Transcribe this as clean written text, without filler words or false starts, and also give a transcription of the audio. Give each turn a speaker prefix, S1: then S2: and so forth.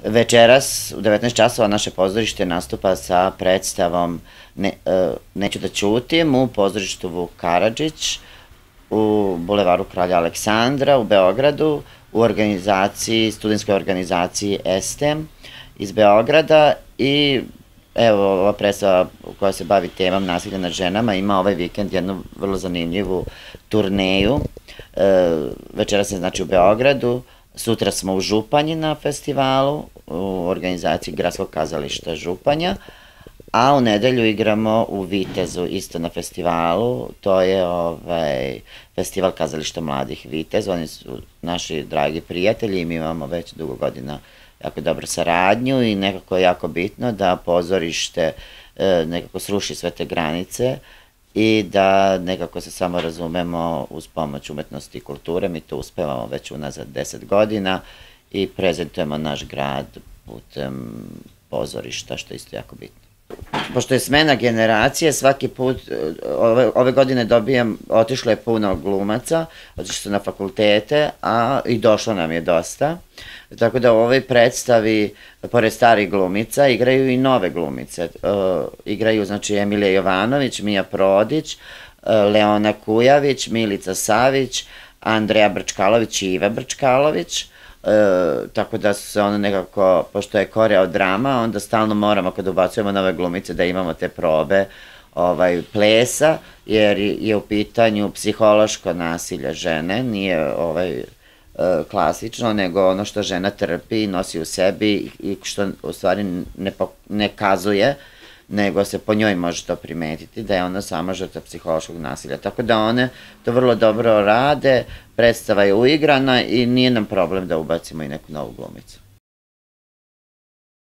S1: Večeras u 19 časova naše pozorište nastupa sa predstavom Neću da ćutim u pozorištu Vuk Karadžić u Bulevaru Kralja Aleksandra u Beogradu u studentskoj organizaciji ESTEM iz Beograda. I evo, ova predstava koja se bavi temom nasilja nad ženama ima ovaj vikend jednu vrlo zanimljivu turneju. Večeras je znači u Beogradu, sutra smo u Županji na festivalu u organizaciji Gradskog kazališta Županja, a u nedelju igramo u Vitezu isto na festivalu. To je festival kazališta mladih Vitez. Oni su naši dragi prijatelji i mi imamo već dugo godina jako dobru saradnju i nekako je jako bitno da pozorište nekako sruši sve te granice i da nekako se samo razumemo uz pomoć umetnosti i kulture. Mi to uspevamo već unazad 10 godina i prezentujemo naš grad putem pozorišta, što je isto jako bitno. Pošto je smena generacije, svaki put, ove godine otišlo je puno glumaca, otišli su na fakultete, a i došlo nam je dosta. Tako da u ovoj predstavi, pored starih glumica, igraju i nove glumice. Igraju, znači, Emilija Jovanović, Mija Prodić, Leona Kujavić, Milica Savić, Andreja Brčkalović i Iva Brčkalović. Tako da su se ono nekako, pošto je koreodrama, onda stalno moramo kad ubacujemo nove glumice da imamo te probe plesa, jer je u pitanju psihološko nasilje žene, nije klasično, nego ono što žena trpi, nosi u sebi i što u stvari ne kazuje, nego se po njoj može to primetiti, da je ona sama žrtva psihološkog nasilja. Tako da one to vrlo dobro rade, predstava je uigrana i nije nam problem da ubacimo i neku novu glumicu.